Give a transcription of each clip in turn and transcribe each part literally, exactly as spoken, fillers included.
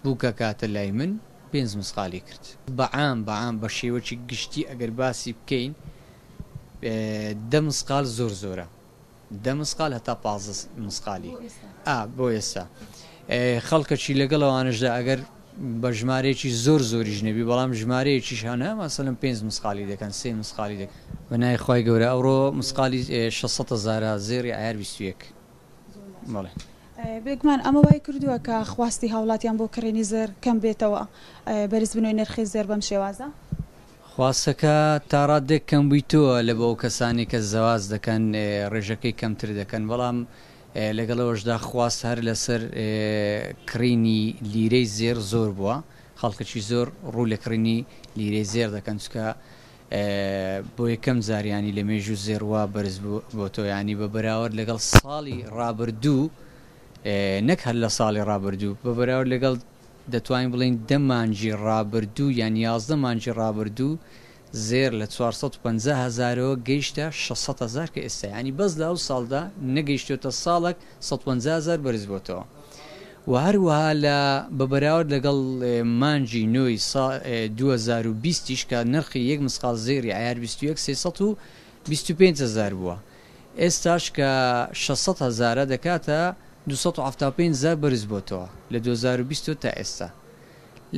بووکە کاتە لای من پێنج مسقالی کرد. بەعام بەعام بە شێوەکی گشتی ئەگەر باسی بکەین دە مسقال زۆر زۆرە، دە مسقال هەتا پازدە مسقالی ئا بۆ ئێستا. خەڵکەکی لەگەڵ ئەوانشدا ئەگەر بە ژمارەیەکی زۆر زۆریش نەبی، بەڵام ژمارەیەکیش هەنە مەسەلەن پێنج مسقالی دەکەن، سێ مسقالی دەکەن. بە ناوی خوای گەورە ئەوڕۆ مسقالی شەش سەد هەزارە زێڕی عیار بیست و یەک. بەڵێ. بێگومان ئەمە وای کردووە کە خواستی هاوڵاتیان بۆ کڕینی زێڕ کەم بێتەوە، بەرزبوونەوەی نرخی زێڕ بەم شێوازە؟ خواستەکە تا ڕادێک کەم بوویتەوە لە بۆ ئەو کەسانی کە زەواز دەکەن ڕێژەکەی کەمتر دەکەن، بەڵام لەگەڵەوەشدا خواست هەر لەسەر کڕینی لیرەی زێڕ زۆر بووە، خەڵکەکی زۆر ڕوو لە کڕینی لیرەی زێڕ دەکەن، چونکە بۆ یەکەم جاریانی لە مێژوو زێڕ وا بەرز بۆتەوە، ینی بە بەراورد لەگەڵ ساڵی ڕابردوو، نەک هەر لە ساڵی ڕابردوو، بە بەراورد لەگەڵ دەتوانین بڵێین دە مانگی ڕابردوو یان یازدە مانگی ڕابردوو زێر لە چوار سەد و پەنجا هەزارەوە گەیشتە شەش سەد هەزار کە ئێستا، ینی بەس لە ئەو ساڵدا نەگەیشتێتە ساڵێک سەد و پەنجا هەزار بەرز بۆتەوە. و هەروەها لە بە بەراورد لەگەڵ مانگی نۆی دوو هەزار و بیستیش کە نرخی یەک مسقال زێڕی عیار بیست و یەک سێ سەد و بیست و پێنج هەزار بووە، ئێستاش کە شەش سەد هەزارە دەکاتە دوو سەد و حەفتا و پێنج هەزار بەرز بۆتەوە لە دوو هەزار و بیست تا ئێستا.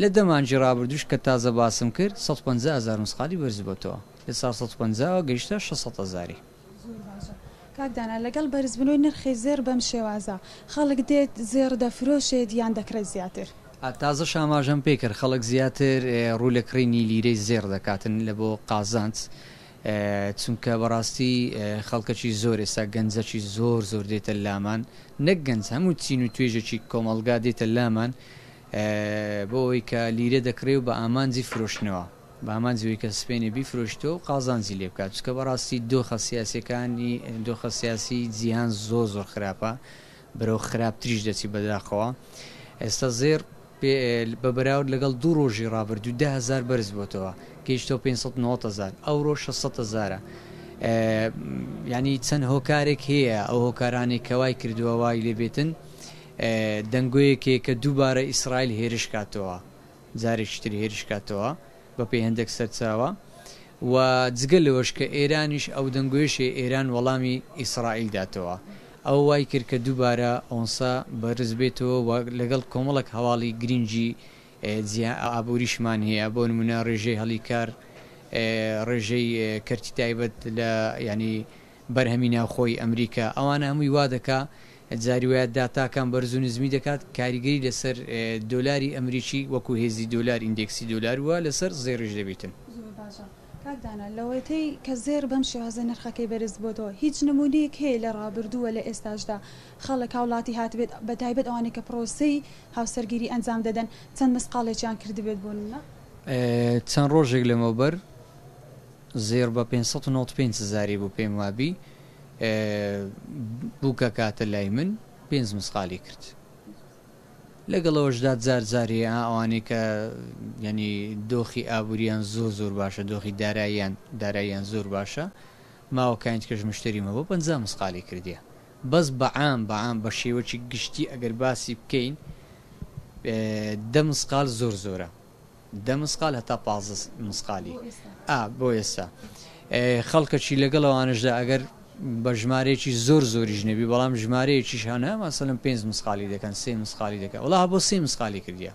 لە دە مانگی ڕابردووش کە تازە باسم کرد سەد و پەنجا هەزار مسقالی بەرز بۆتەوە، لە چوار سەد و پەنجاوە گەیشتە شەش سەد هەزاری. زۆر باشە کاک دانا، لەگەڵ بەرزبوونەوەی نرخی زێڕ بەم شێوازە خەڵک دێت زێڕ دەفرۆشێت یان دەکڕێت زیاتر؟ تازە شاماژەم پێ کرد خەڵک زیاتر ڕوو لە کڕینی لیرەی زێڕ دەکاتن لە بۆ قازانج، چونکە بەڕاستی خەڵکەکی زۆر ئێستا گەنجەکی زۆر زۆر دێتە لامان، نەک گەنج هەموو چین و توێژێکی کۆمەڵگا دێتە لامان بۆ ئەوەی کە لیرە دەکڕێ و بە ئامانجی فرۆشتنەوە، بە ئامانجی ئەوەی کە سپێنێ بیفرۆشتەوە و قازانجی لێ بکات، چونکە بەڕاستی دۆخە سیاسیەکانی دۆخە سیاسی جیهان زۆر زۆر خراپە، بەرەو خراپتریش دەچی بەداخەوە. ئێستا زێڕ بە بەراورد لەگەڵ دوو ڕۆژی ڕابردوو دە هەزار بەرز بۆتەوە، گەیشتەوە پێنج سەد و نەوەد هەزار، ئەوڕۆ شەش سەد هەزارە. ینی چەند هۆکارێک هەیە، ئەو هۆکارانەی کە وای کردووە وای لێبێتن دەنگۆیەکێک کە دووبارە ئیسرائیل هێرش کاتەوە، جارێکی تر هێرش کاتەوە بە پێی هەندێک سەرچاوە، و جگە لەوەش کە ئێرانیش ئەو دەنگۆیەشێ ئێران وەڵامی ئیسرائیل داتەوە، ئەو وای کرد کە دووبارە ئۆنسا بەرز بێتەوە و لەگەڵ کۆمەڵێک هەواڵی گرنگی ئابووریشمان هەیە، بۆ نمونە ڕێژەی هەڵیکار، ڕێژەی کەرتی تایبەت لە ینی بەرهەمی ناوخۆی ئەمریکا، ئەوانە هەمووی وا دەکا جاری وایە داتاکان بەرز و نزمی دەکات، کاریگەری لەسەر دۆلاری ئەمریکی وەکو هێزی دۆلار ئیندێکسی دۆلار وە لەسەر زێڕیش دەبیتن. زۆر باشە کاک دانا، لەوەتەی کە زێڕ بەم شێوازە نرخەکەی بەرز بۆتەوە هیچ نمونەیەک هەیە لە ڕابردووە لە ئێستاشدا خەڵک هاوڵاتی هاتبێت بە تایبەت ئەوانەی کە پرۆسەی هاوسەرگیری ئەنجام دەدەن چەند مسقاڵێکیان کردبێت بۆ نمونە؟ چەند ڕۆژێک لەمەوبەر زێڕ بە پێنج سەد و نەوەد و پێنج هەزاری بوو، پێم وابی بووکە کاتە لای من پێنج مسقالی کرد. لەگەڵەوەشدا جار جارێ ئەوانەی کە ینی دۆخی ئابووریان زۆر زۆر باشە، دۆخی داراییان داراییان زۆر باشە، ماوەکانی کەش مشتریمە بۆ پەنجا مسقالی کردیە. بەس بەعام بەعام بە شێوەکی گشتی ئەگەر باسی بکەین دە مسقال زۆر زۆرە، دە مسقال هەتا پازدە مسقالی ئا بۆ ئێستا. خەڵکەکی لەگەڵ ئەوانشدا ئەگەر بە ژمارەیەکی زۆر زۆریش نەبی، بەڵام ژمارەیەکیش هەنە مەسەلەن پێنج مسقالی دەکەن، سێ مسقالی دەکەن، وەڵا بۆ سێ مسقالی کردیە.